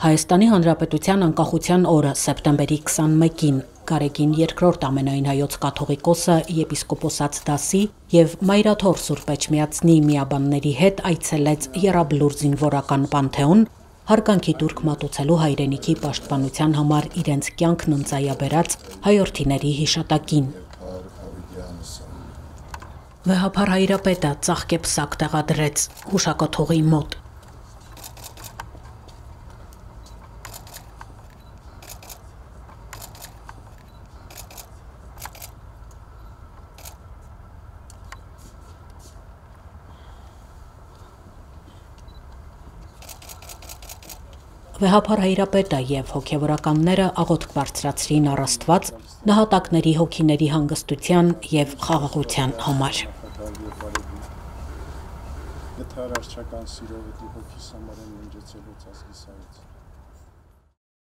Հայաստանի Հանրապետության անկախության օրը սեպտեմբերի 21-ին Գարեգին II ամենայն հայոց կաթողիկոսը եպիսկոպոսաց դասի եւ Մայրաթոր Սուրբ Էջմիածնի միաբանների հետ այցելեց Եռաբլուր զինվորական պանթեոն հարգանքի տուրք մատուցելու հայրենիքի պաշտպանության համար իրենց կյանքն ընծայաբերած հայրենիների հիշատակին։ Վեհափար հայրապետը ծաղկեպսակ տեղադրեց հուշակոթողի մոտ։ Վեհափար հայրապետը եւ հոգեվորականները աղոթք բարձրացրին առ Աստված նահատակների հոգիների հանգստության եւ խաղաղության համար։ Եթե արարչական սիրով դի հոգիս համար են ննջեցել ազգիս հայոց։